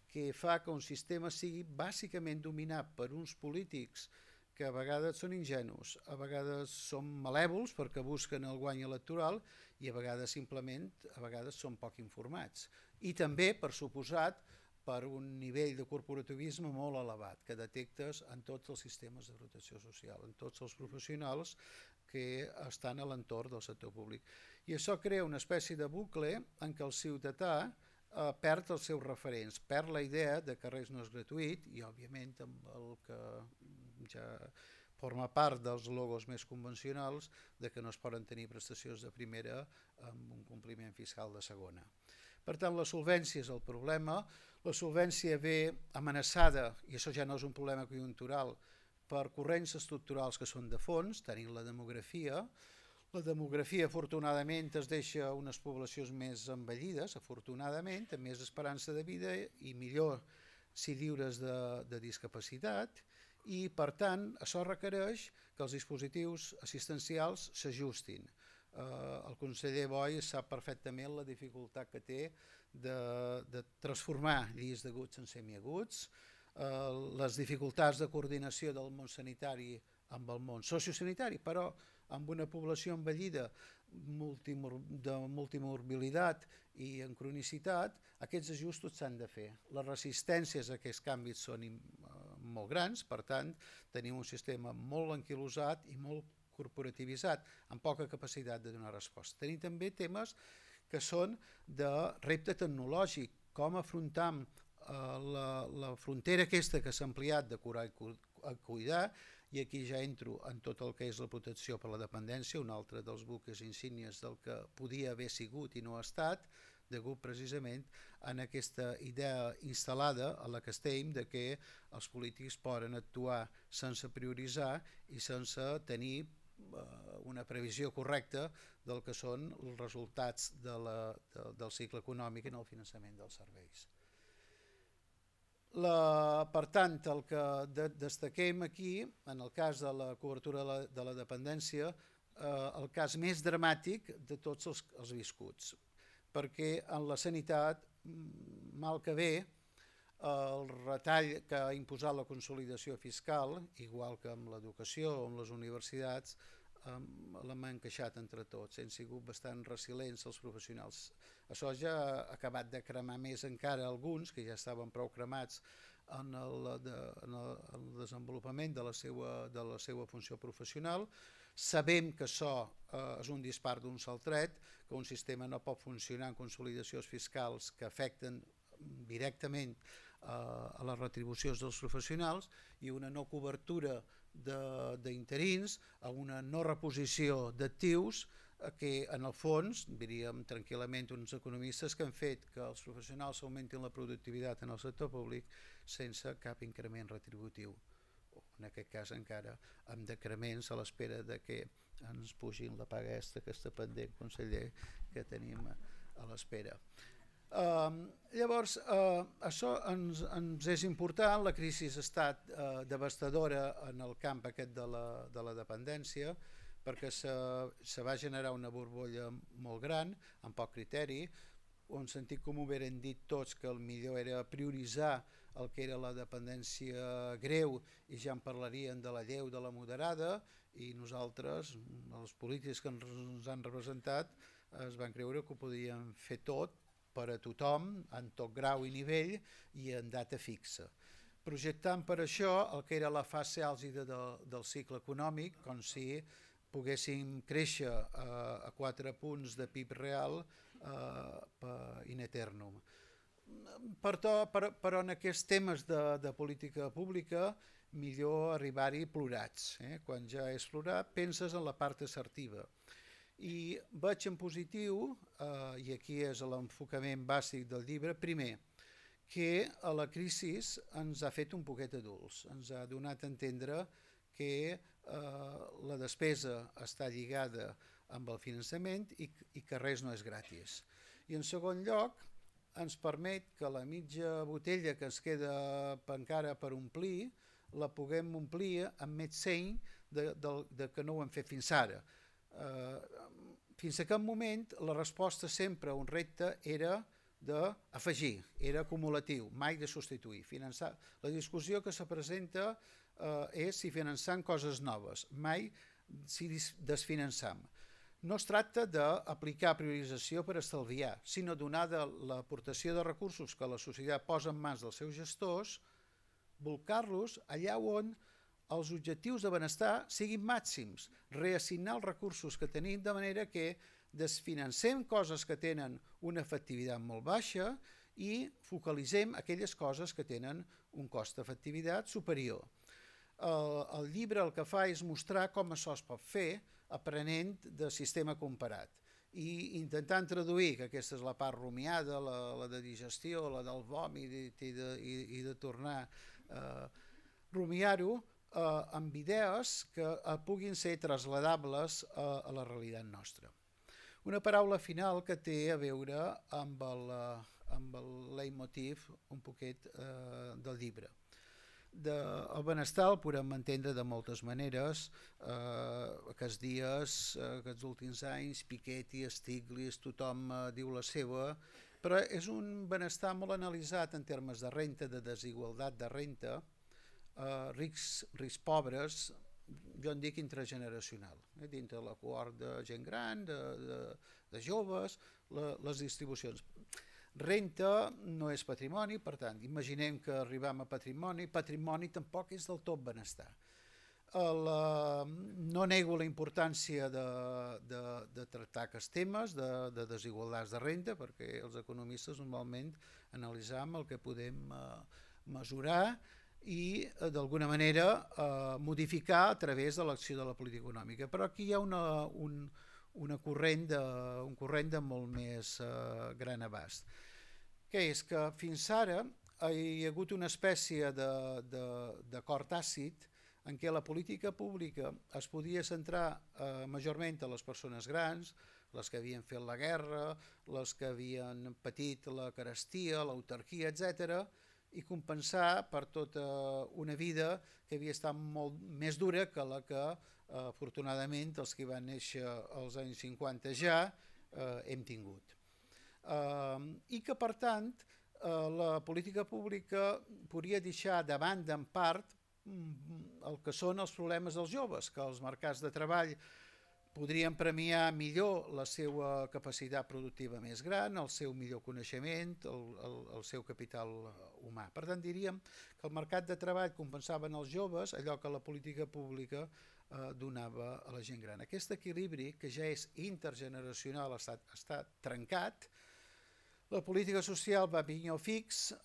que fa que un sistema sigui bàsicament dominat per uns polítics que a vegades són ingenus, a vegades són malèvols perquè busquen el guany electoral i a vegades simplement a vegades són poc informats. I també, per suposat, per un nivell de corporativisme molt elevat que detectes en tots els sistemes de protecció social, en tots els professionals que estan a l'entorn del sector públic. I això crea una espècie de bucle en què el ciutadà eh, perd els seus referents, perd la idea de que res no és gratuït i, òbviament, amb el que ja forma part dels logos més convencionals de que no es poden tenir prestacions de primera amb un compliment fiscal de segona. Per tant, la solvència és el problema. La solvència ve amenaçada, i això ja no és un problema conjuntural, per corrents estructurals que són de fons, tenim la demografia. La demografia, afortunadament, es deixa unes poblacions més envellides, afortunadament, amb més esperança de vida i millor si lliures de, de discapacitat, i, per tant, això requereix que els dispositius assistencials s'ajustin. Uh, el conseller Boi sap perfectament la dificultat que té de, de transformar llits d'aguts en semiaguts, uh, les dificultats de coordinació del món sanitari amb el món sociosanitari, però amb una població envellida multimor de multimorbilitat i en cronicitat, aquests ajustos s'han de fer. Les resistències a aquests canvis són uh, molt grans, per tant, tenim un sistema molt anquilosat i molt corporativitzat, amb poca capacitat de donar resposta. Tenim també temes que són de repte tecnològic, com afrontam eh, la, la frontera aquesta que s'ha ampliat de curar i cuidar, i aquí ja entro en tot el que és la protecció per la dependència, un altre dels buques insígnies del que podia haver sigut i no ha estat, degut precisament en aquesta idea instal·lada a la que estem de que els polítics poden actuar sense prioritzar i sense tenir una previsió correcta del que són els resultats de la, de, del cicle econòmic en el finançament dels serveis. La, per tant, el que de, destaquem aquí, en el cas de la cobertura de la, de la dependència, eh, el cas més dramàtic de tots els, els viscuts, perquè en la sanitat, mal que bé, el retall que ha imposat la consolidació fiscal, igual que amb l'educació o amb les universitats, l'hem encaixat entre tots. Hem sigut bastant resilients els professionals. Això ja ha acabat de cremar més encara alguns, que ja estaven prou cremats en el, de, en el, en el desenvolupament de la, seva, de la seva funció professional. Sabem que això eh, és un dispar d'un sol tret, que un sistema no pot funcionar en consolidacions fiscals que afecten directament eh, a les retribucions dels professionals i una no cobertura d'interins, a una no reposició d'actius que en el fons, diríem tranquil·lament uns economistes, que han fet que els professionals augmentin la productivitat en el sector públic sense cap increment retributiu. En aquest cas encara amb decrements a l'espera de que ens pugin la paga extra que està pendent, conseller, que tenim a l'espera. Uh, llavors, uh, això ens, ens és important. La crisi ha estat uh, devastadora en el camp aquest de la, de la dependència, perquè se, se va generar una borbolla molt gran, amb poc criteri, en sentit comú huberen dit tots que el millor era prioritzar el que era la dependència greu i ja en parlarien de la lleu, de la moderada, i nosaltres, els polítics que ens han representat, es van creure que ho podien fer tot per a tothom, en tot grau i nivell i en data fixa. Projectant per això el que era la fase àlgida de, del cicle econòmic, com si poguéssim créixer eh, a quatre punts de P I B real eh, in eternum. Per to, per, però en aquests temes de, de política pública millor arribar-hi plorats. Eh? Quan ja és plorat penses en la part assertiva. I veig en positiu, eh, i aquí és l'enfocament bàsic del llibre, primer, que a la crisi ens ha fet un poquet adults, ens ha donat a entendre que eh, la despesa està lligada amb el finançament i, i que res no és gratis. I en segon lloc, ens permet que la mitja botella que ens queda encara per omplir, la puguem omplir amb més seny de, de, de que no ho hem fet fins ara. Uh, fins a aquest moment la resposta sempre a un repte era d'afegir, era acumulatiu, mai de substituir. Finançar. La discussió que se presenta uh, és si finançant coses noves, mai si desfinançam. No es tracta d'aplicar priorització per estalviar, sinó donada l'aportació de recursos que la societat posa en mans dels seus gestors, volcar-los allà on els objectius de benestar siguin màxims, reassignar els recursos que tenim de manera que desfinancem coses que tenen una efectivitat molt baixa i focalitzem aquelles coses que tenen un cost d'efectivitat superior. El, el llibre el que fa és mostrar com això es pot fer aprenent de sistema comparat i intentant traduir, que aquesta és la part rumiada, la, la de digestió, la del vòmit i, i, de, i, i de tornar a eh, rumiar-ho eh, amb idees que eh, puguin ser trasladables a, a la realitat nostra. Una paraula final que té a veure amb el, amb el leitmotiv un poquet eh, del llibre. De, el benestar el podem entendre de moltes maneres. Eh, aquests dies, eh, aquests últims anys, Piketty, Stiglitz, tothom eh, diu la seva, però és un benestar molt analitzat en termes de renta, de desigualtat de renta, eh, rics, rics pobres, jo en dic intrageneracional, eh, dintre la cohort de gent gran, de, de, de joves, la, les distribucions. Renta no és patrimoni, per tant, imaginem que arribem a patrimoni, patrimoni tampoc és del tot benestar. El, no nego la importància de, de, de tractar aquests temes de, de desigualtats de renda, perquè els economistes normalment analitzam el que podem eh, mesurar i eh, d'alguna manera eh, modificar a través de l'acció de la política econòmica. Però aquí hi ha una, un, una corrent de, un corrent de molt més eh, gran abast, que és que fins ara hi ha hagut una espècie d'acord tàcit en què la política pública es podia centrar eh, majorment a les persones grans, les que havien fet la guerra, les que havien patit la carestia, l'autarquia, etcètera, i compensar per tota una vida que havia estat molt més dura que la que, eh, afortunadament, els que van néixer als anys cinquanta ja eh, hem tingut. Uh, i que per tant uh, la política pública podria deixar de banda en part el que són els problemes dels joves, que els mercats de treball podríem premiar millor la seva capacitat productiva més gran, el seu millor coneixement, el, el, el seu capital humà. Per tant, diríem que el mercat de treball compensava en els joves allò que la política pública eh, donava a la gent gran. Aquest equilibri, que ja és intergeneracional, està, està trencat. La política social va pinyó fix eh,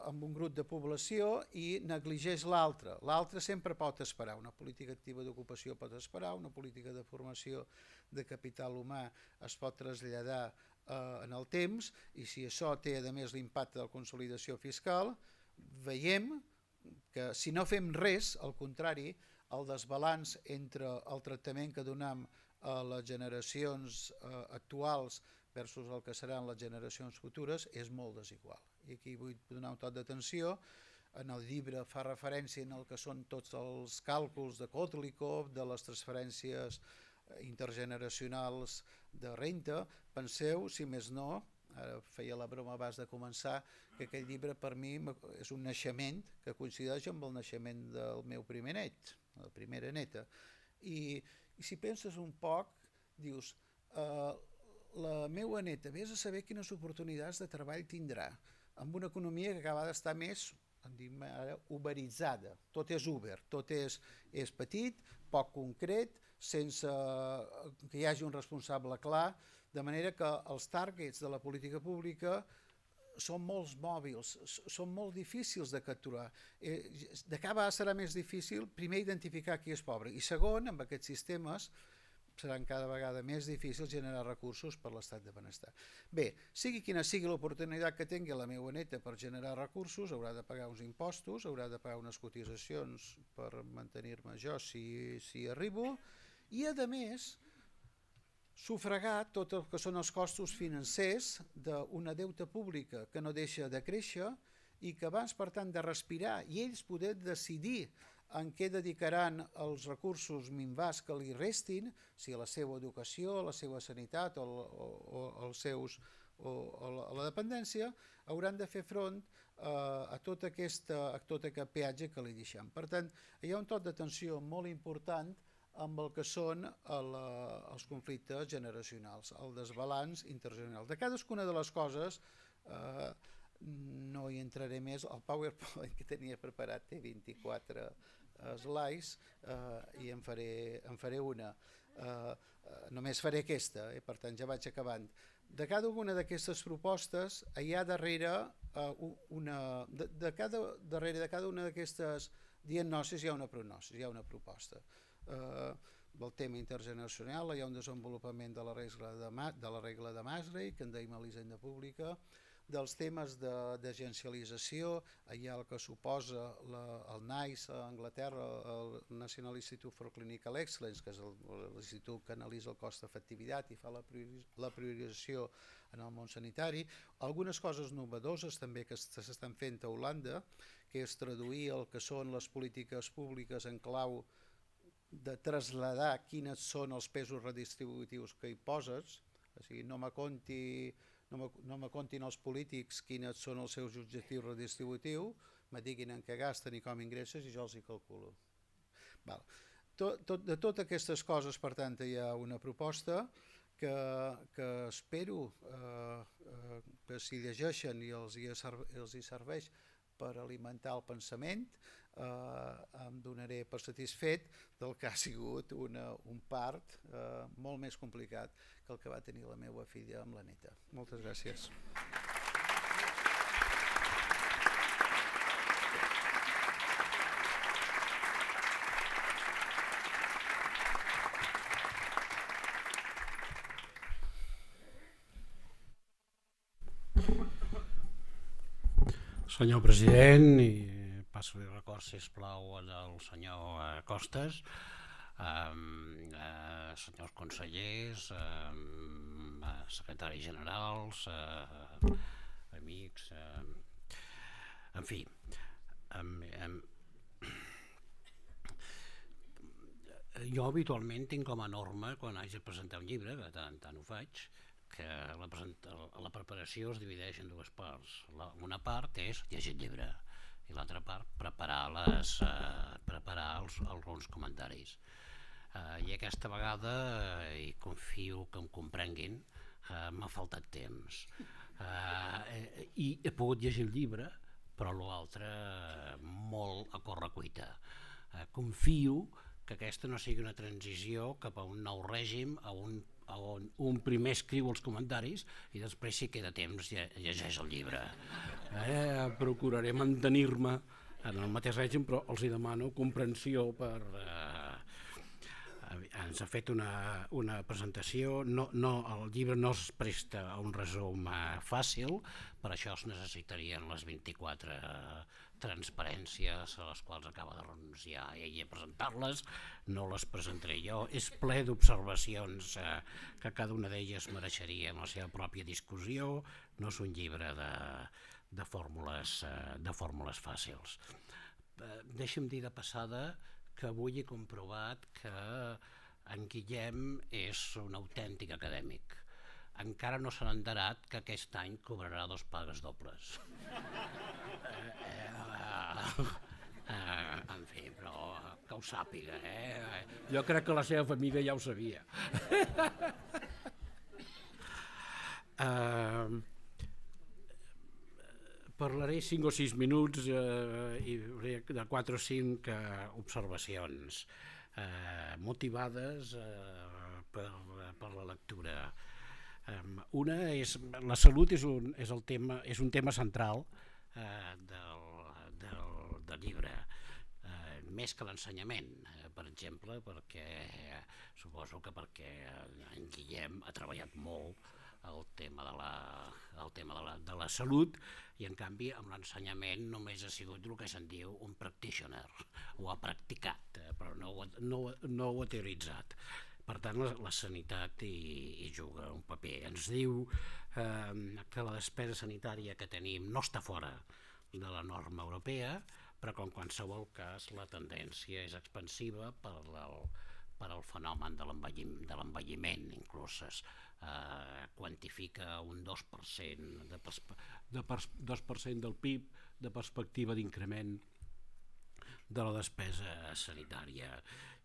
amb un grup de població i negligeix l'altre. L'altre sempre pot esperar. Una política activa d'ocupació pot esperar, una política de formació de capital humà es pot traslladar eh, en el temps, i si això té a més l'impacte de la consolidació fiscal, veiem que si no fem res, al contrari, el desbalanç entre el tractament que donem a les generacions eh, actuals versus el que seran les generacions futures és molt desigual. I aquí vull donar un toc d'atenció. En el llibre fa referència en el que són tots els càlculs de Kotlikoff, de les transferències intergeneracionals de renta. Penseu, si més no, ara feia la broma abans de començar, que aquell llibre per mi és un naixement que coincideix amb el naixement del meu primer net, la primera neta. I, i si penses un poc, dius, eh, la meva neta, vés a saber quines oportunitats de treball tindrà amb una economia que acaba d'estar més, en diem ara, uberitzada. Tot és Uber, tot és, és petit, poc concret, sense que hi hagi un responsable clar, de manera que els targets de la política pública són molt mòbils, són molt difícils de capturar. Eh, de cada vegada serà més difícil, primer, identificar qui és pobre, i segon, amb aquests sistemes, seran cada vegada més difícils generar recursos per l'estat de benestar. Bé, sigui quina sigui l'oportunitat que tingui la meva neta per generar recursos, haurà de pagar uns impostos, haurà de pagar unes cotitzacions per mantenir-me jo si, si arribo, i a més sufragar tot el que són els costos financers d'una deuta pública que no deixa de créixer i que abans, per tant, de respirar i ells poder decidir en què dedicaran els recursos minvats que li restin, si a la seva educació, a la seva sanitat o, o, o, els seus, o, o a la dependència, hauran de fer front eh, a, tot aquesta, a tot aquest peatge que li deixem. Per tant, hi ha un toc d'atenció molt important amb el que són el, els conflictes generacionals, el desbalanç intergeneracional. De cadascuna de les coses, eh, no hi entraré més, el PowerPoint que tenia preparat té vint-i-quatre slides eh, i en faré, en faré una. Eh, només faré aquesta, eh, per tant ja vaig acabant. De cada una d'aquestes propostes hi ha darrere eh, una, de, de cada, darrere de cada una d'aquestes diagnosis hi ha una prognosi, hi ha una proposta. Eh, del tema intergeneracional hi ha un desenvolupament de la regla de, Ma, de, la regla de Maastricht, que en deim a l'Hisenda Pública, dels temes d'agencialització, hi ha el que suposa la, el NICE a Anglaterra, el National Institute for Clinical Excellence, que és l'institut que analitza el cost-efectivitat i fa la, priori, la priorització en el món sanitari. Algunes coses novedoses també que s'estan fent a Holanda, que és traduir el que són les polítiques públiques en clau de traslladar quines són els pesos redistributius que hi poses, o sigui, no me conti... no me, no me contin els polítics quins són els seus objectius redistributius, me diguin en què gasten i com ingresses i jo els hi calculo. Val. Tot, tot, de totes aquestes coses, per tant, hi ha una proposta que, que espero eh, eh, que si llegeixen i els hi, els hi serveix per alimentar el pensament, eh, em donaré per satisfet del que ha sigut una, un part eh, molt més complicat que el que va tenir la meva filla amb la neta. Moltes gràcies. Senyor president, i passo-li record, sisplau, al senyor Costes, eh, eh, senyors consellers, eh, secretaris generals, eh, amics, eh, en fi. Eh, eh, jo habitualment tinc com a norma, quan haig de presentar un llibre, que tant, tant ho faig, que la, la preparació es divideix en dues parts. La, una part és llegir el llibre i l'altra part preparar, les, eh, preparar els, alguns comentaris. Uh, I aquesta vegada, uh, i confio que em comprenguin, uh, m'ha faltat temps. Uh, I he pogut llegir el llibre, però l'altre uh, molt a correcuita. Uh, confio que aquesta no sigui una transició cap a un nou règim, a un, a on un primer escriu els comentaris i després, si queda temps, llegeix el llibre. Eh, procuraré mantenir-me en el mateix règim, però els hi demano comprensió per... Uh, ens ha fet una, una presentació, no, no, el llibre no es presta a un resum uh, fàcil, per això es necessitarien les vint-i-quatre transparències a les quals acaba de renunciar ell a presentar-les, no les presentaré jo, és ple d'observacions uh, que cada una d'elles mereixeria en la seva pròpia discussió, no és un llibre de, de, fórmules, uh, de fórmules fàcils. Uh, deixa'm dir de passada que avui he comprovat que en Guillem és un autèntic acadèmic. Encara no s'ha enterat que aquest any cobrarà dos pagues dobles. eh, eh, eh, en fi, però que ho sàpiga. Eh? Jo crec que la seva família ja ho sabia. eh, Parlaré cinc o sis minuts eh, i de quatre o cinc eh, observacions eh, motivades eh, per, per la lectura. Eh, una és, la salut és un, és el tema, és un tema central eh, del, del, del llibre, eh, més que l'ensenyament, eh, per exemple, perquè eh, suposo que perquè en Guillem ha treballat molt el tema de la, el tema de la, de la salut, i en canvi amb l'ensenyament només ha sigut el que se'n diu un practitioner, ho ha practicat, eh, però no ho, no, no ho ha teoritzat. Per tant, la, la sanitat hi, hi juga un paper. Ens diu eh, que la despesa sanitària que tenim no està fora de la norma europea, però que en qualsevol cas la tendència és expansiva per el, per al fenomen de l'envelliment, inclús es eh, quantifica un dos per cent de, de dos per cent del P I B de perspectiva d'increment de la despesa sanitària.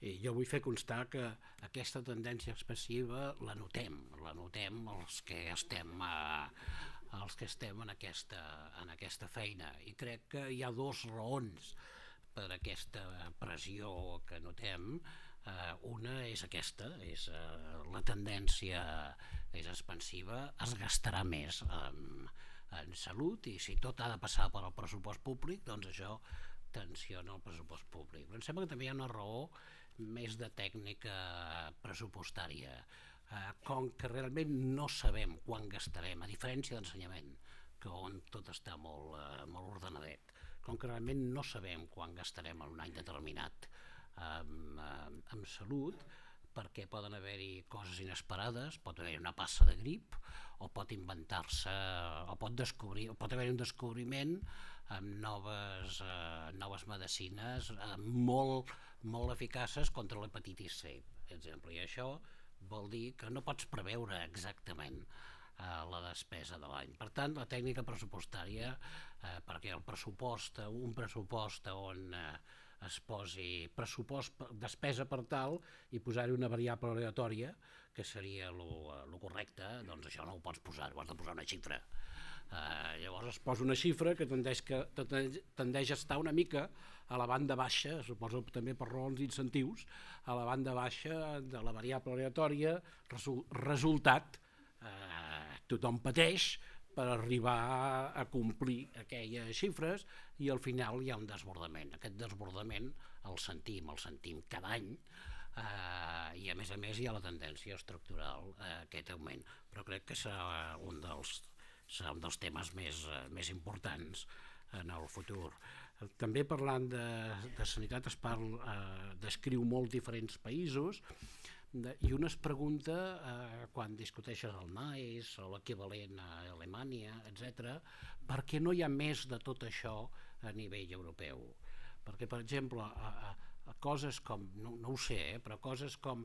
I jo vull fer constar que aquesta tendència expansiva la notem, la notem els que estem, eh, els que estem en, aquesta, en aquesta feina, i crec que hi ha dues raons per aquesta pressió que notem. Uh, una és aquesta, és, uh, la tendència és expansiva, es gastarà més um, en salut, i si tot ha de passar per al pressupost públic, doncs això tensiona el pressupost públic. Però em sembla que també hi ha una raó més de tècnica pressupostària, uh, com que realment no sabem quan gastarem, a diferència d'ensenyament, que on tot està molt, uh, molt ordenadet, com que realment no sabem quan gastarem en un any determinat Amb, amb salut, perquè poden haver-hi coses inesperades, pot haver-hi una passa de grip, o pot inventar-se, o pot descobrir, o pot haver-hi un descobriment amb noves, eh, noves medicines eh, molt, molt eficaces contra l'hepatitis C, per exemple, i això vol dir que no pots preveure exactament eh, la despesa de l'any. Per tant, la tècnica pressupostària, eh, perquè el pressupost, un pressupost on eh, es posi pressupost, despesa per tal, i posar-hi una variable aleatòria, que seria el correcte, doncs això no ho pots posar, ho has de posar una xifra. Eh, llavors es posa una xifra que tendeix, que tendeix a estar una mica a la banda baixa, suposo també per raons d'incentius, a la banda baixa de la variable aleatòria, resultat, eh, tothom pateix per arribar a complir aquelles xifres, i al final hi ha un desbordament. Aquest desbordament el sentim, el sentim cada any, eh, i a més a més hi ha la tendència estructural a aquest augment, però crec que serà un dels, serà un dels temes més, més importants en el futur. També parlant de, de sanitat es parla, eh, descriu molts diferents països, i un es pregunta, eh, quan discuteixes el N I C E o l'equivalent a Alemanya, etcètera, per què no hi ha més de tot això a nivell europeu? Perquè, per exemple, a, a, a coses com, no, no ho sé, eh, però coses com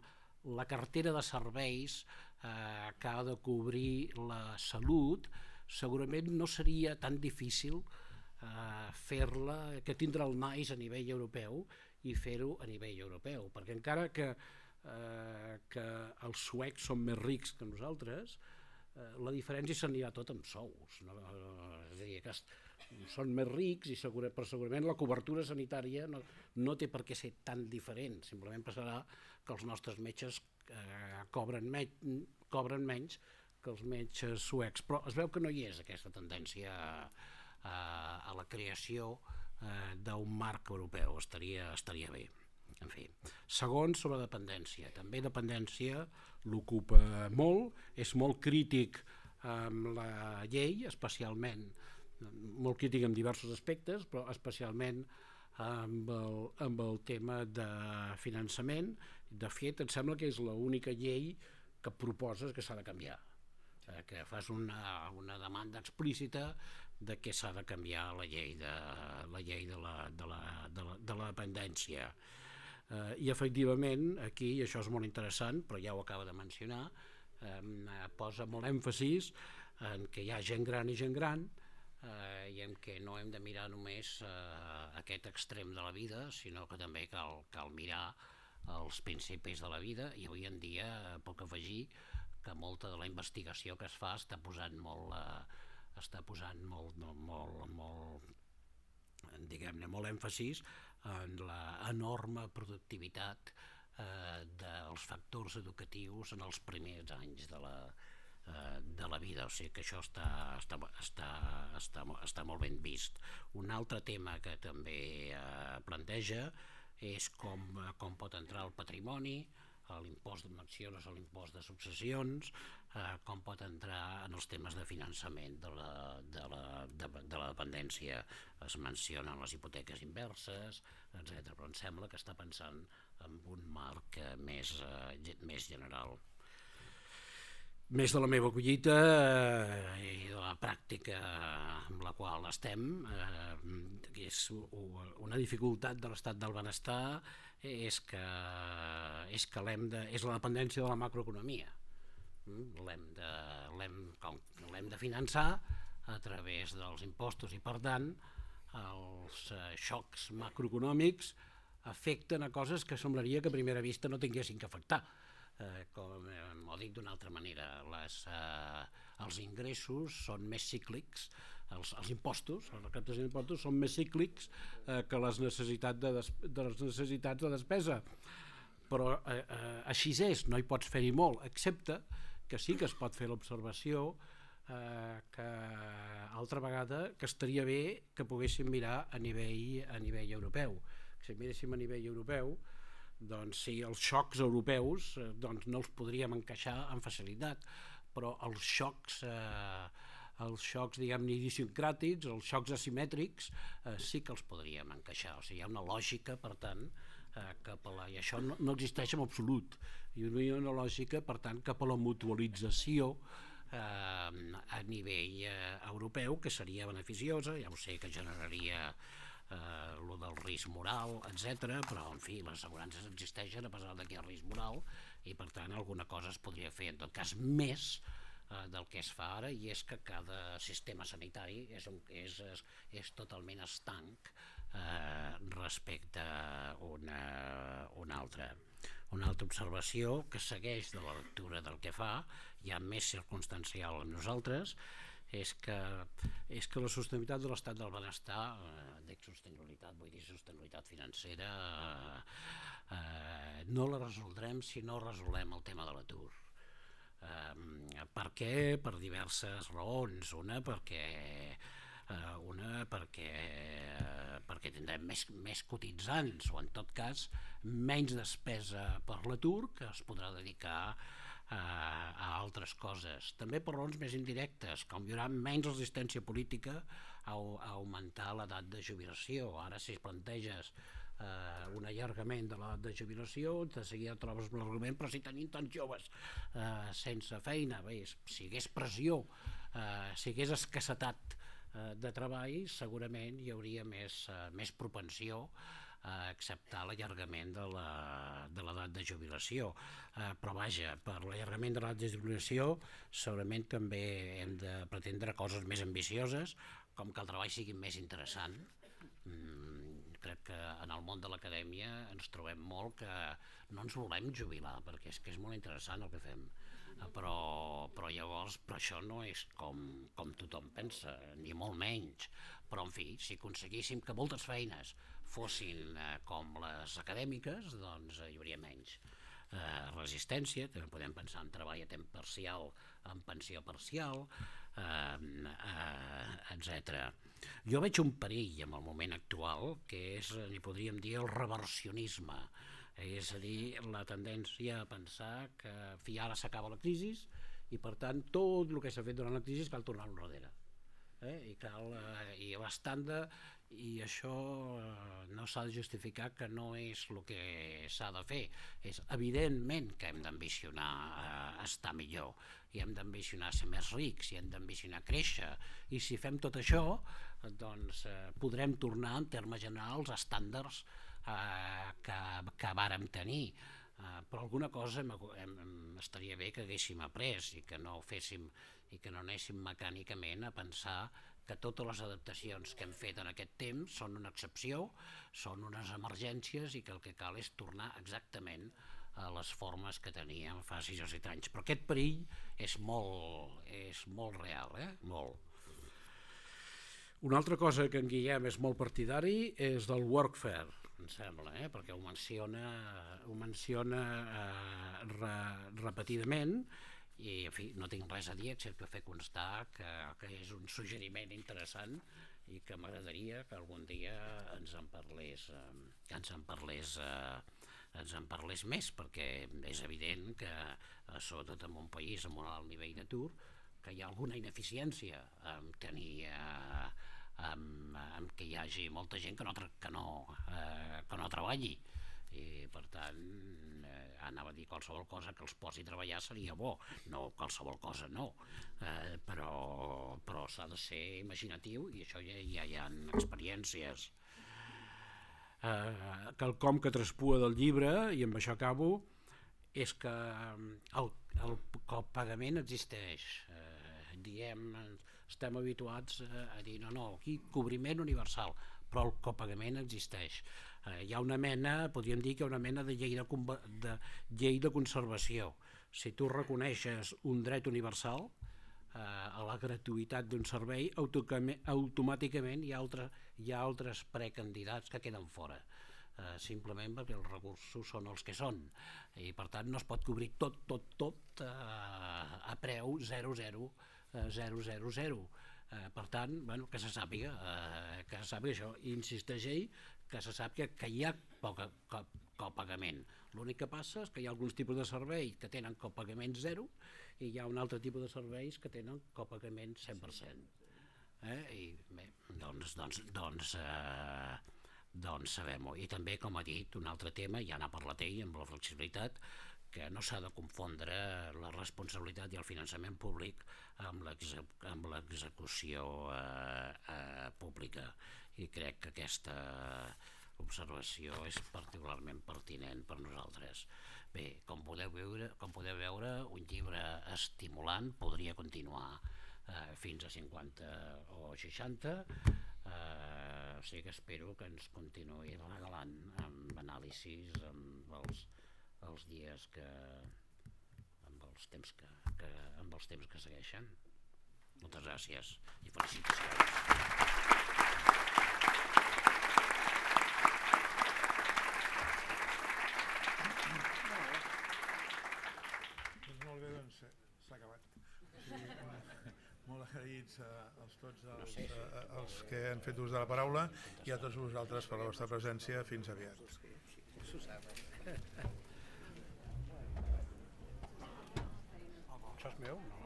la cartera de serveis eh, que ha de cobrir la salut, segurament no seria tan difícil eh, fer-la, que tindre el N I C E a nivell europeu i fer-ho a nivell europeu, perquè encara que eh, que els suecs són més rics que nosaltres, eh, la diferència s'anirà tot amb sous, no? És a dir, que són més rics i segura, però segurament la cobertura sanitària no, no té per què ser tan diferent, simplement passarà que els nostres metges eh, cobren, me cobren menys que els metges suecs, però es veu que no hi és aquesta tendència a, a, a la creació eh, d'un marc europeu, estaria, estaria bé. En fi. Segon, sobre dependència. També dependència l'ocupa molt, és molt crític amb la llei, especialment, molt crític en diversos aspectes, però especialment amb el, amb el tema de finançament. De fet, em sembla que és l'única llei que proposes que s'ha de canviar, eh, que fas una, una demanda explícita de que s'ha de canviar la llei de la, llei de la, de la, de la, de la dependència. Uh, I efectivament aquí, i això és molt interessant, però ja ho acaba de mencionar, um, uh, posa molt èmfasis en que hi ha gent gran i gent gran uh, i en què no hem de mirar només uh, aquest extrem de la vida, sinó que també cal, cal mirar els principis de la vida, i avui en dia uh, puc afegir que molta de la investigació que es fa està posant molt, uh, està posant molt, no, molt, molt, diguem-ne, molt èmfasis en l'enorme productivitat eh, dels factors educatius en els primers anys de la, eh, de la vida, o sigui que això està, està, està, està, està molt ben vist. Un altre tema que també eh, planteja és com, com pot entrar el patrimoni, l'impost de mencions a l'impost de successions, eh, com pot entrar en els temes de finançament de la, de la, de, de la dependència. Es mencionen les hipoteques inverses, etcètera. Però em sembla que està pensant en un marc més, eh, més general. Més de la meva collita eh, i de la pràctica amb la qual estem, eh, és una dificultat de l'estat del benestar, és que, és, que l'hem de, és la dependència de la macroeconomia. L'hem de, l'hem, l'hem de finançar a través dels impostos i, per tant, els xocs macroeconòmics afecten a coses que semblaria que a primera vista no tinguessin que afectar. Eh, com eh, ho dic d'una altra manera, les, eh, els ingressos són més cíclics, els, els impostos, els recaptacions d'impostos són més cíclics eh, que les necessitats de, des, de les necessitats de despesa, però eh, eh, així és, no hi pots fer-hi molt, excepte que sí que es pot fer l'observació eh, que altra vegada que estaria bé que poguéssim mirar a nivell, a nivell europeu. Si miréssim a nivell europeu, doncs sí, els xocs europeus eh, doncs no els podríem encaixar amb facilitat, però els xocs eh, els xocs, diguem-ne, idiosincràtics, els xocs asimètrics, eh, sí que els podríem encaixar. O sigui, hi ha una lògica, per tant, eh, cap a la, i això no, no existeix en absolut, hi ha una lògica, per tant, cap a la mutualització eh, a nivell eh, europeu, que seria beneficiosa, ja ho sé que generaria eh, lo del risc moral, etcètera, però, en fi, les assegurances existeixen a pesar que hi ha risc moral, i, per tant, alguna cosa es podria fer, en tot cas, més del que es fa ara, i és que cada sistema sanitari és, un, és, és, és totalment estanc eh, respecte a una, una, altra, una altra observació que segueix de la lectura del que fa, ja més circumstancial amb nosaltres, és que, és que la sostenibilitat de l'estat del benestar, eh, dic sostenibilitat, vull dir sostenibilitat financera, eh, eh, no la resoldrem si no resolem el tema de l'atur. Uh, per què? Per diverses raons. Una perquè uh, una perquè uh, perquè tindrem més, més cotitzants, o en tot cas menys despesa per l'atur que es podrà dedicar uh, a altres coses. També per raons més indirectes, com hi haurà menys resistència política a, a augmentar l'edat de jubilació. Ara, si es planteges Uh, un allargament de l'edat de jubilació, de seguida trobes un argument, però si tenim tants joves uh, sense feina, bé, si hi hagués pressió, uh, si hi hagués escassetat uh, de treball, segurament hi hauria més, uh, més propensió a acceptar l'allargament de l'edat de jubilació. Uh, però vaja, per l'allargament de l'edat de jubilació segurament també hem de pretendre coses més ambicioses, com que el treball sigui més interessant, mm, que crec que en el món de l'acadèmia ens trobem molt que no ens volem jubilar, perquè és que és molt interessant el que fem, però, però llavors però això no és com, com tothom pensa, ni molt menys, però en fi, si aconseguíssim que moltes feines fossin eh, com les acadèmiques, doncs eh, hi hauria menys eh, resistència, també podem pensar en treball a temps parcial, en pensió parcial, eh, eh, etcètera. Jo veig un perill en el moment actual que és, n'hi podríem dir, el reversionisme, és a dir, la tendència a pensar que fi, ara s'acaba la crisi i per tant tot el que s'ha fet durant la crisi cal tornar enrere. Eh? I, cal, eh, i l'estàndard, i això eh, no s'ha de justificar que no és el que s'ha de fer. És evidentment que hem d'ambicionar eh, estar millor, i hem d'ambicionar ser més rics, i hem d'ambicionar créixer, i si fem tot això doncs eh, podrem tornar en termes generals a estàndards eh, que, que vàrem tenir. Uh, però alguna cosa hem, hem, estaria bé que haguéssim après i que no féssim i que no anéssim mecànicament a pensar que totes les adaptacions que hem fet en aquest temps són una excepció, són unes emergències i que el que cal és tornar exactament a les formes que teníem fa sis o set anys. Però aquest perill és molt, és molt real, eh? Molt. Una altra cosa que en Guillem és molt partidari és del workfare, em sembla, eh? Perquè ho menciona, ho menciona eh, re, repetidament i en fi, no tinc res a dir excepte fer constar que, que és un suggeriment interessant i que m'agradaria que algun dia ens en parlés, eh, que ens en parlés, eh, ens en parlés més, perquè és evident que, eh, sobretot en un país amb un alt nivell d'atur, que hi ha alguna ineficiència en tenir eh, Amb, amb que hi hagi molta gent que no, que no, eh, que no treballi i per tant eh, anava a dir qualsevol cosa que els posi a treballar seria bo, no qualsevol cosa no, eh, però, però s'ha de ser imaginatiu i això ja, ja hi ha experiències. Eh, quelcom que traspua del llibre, i amb això acabo, és que el, el, el pagament existeix, eh, diem, estem habituats a dir no, no, aquí cobriment universal, però el copagament existeix. Eh, hi ha una mena, podríem dir que hi ha una mena de llei de, de, llei de conservació. Si tu reconeixes un dret universal eh, a la gratuïtat d'un servei, automàticament hi ha, altre, hi ha altres precandidats que queden fora. Uh, simplement perquè els recursos són els que són i per tant no es pot cobrir tot, tot, tot uh, a preu zero, zero, zero, zero, zero. Uh, per tant, bueno, que se sàpiga, uh, que se sàpiga això, i insisteix ell que se sàpiga que hi ha poca copagament. L'únic que passa és que hi ha alguns tipus de serveis que tenen copagament zero i hi ha un altre tipus de serveis que tenen copagament cent per cent. Eh? I bé, doncs, doncs, doncs eh, doncs sabem-ho. I també, com ha dit, un altre tema, ja n'ha parlat ell amb la flexibilitat, que no s'ha de confondre la responsabilitat i el finançament públic amb l'execució eh, eh, pública, i crec que aquesta observació és particularment pertinent per nosaltres. Bé, com podeu veure, com podeu veure un llibre estimulant podria continuar eh, fins a cinquanta o seixanta, Uh, o sigui que espero que ens continuï regalant amb anàlisis amb els, els dies que amb els temps que, que amb els temps que segueixen. Moltes gràcies i felicitacions. Doncs molt bé, doncs s'ha acabat. Molt agraïts a, als tots els, a, als que han fet ús de la paraula i a tots vosaltres per la vostra presència. Fins aviat. Això és meu? No.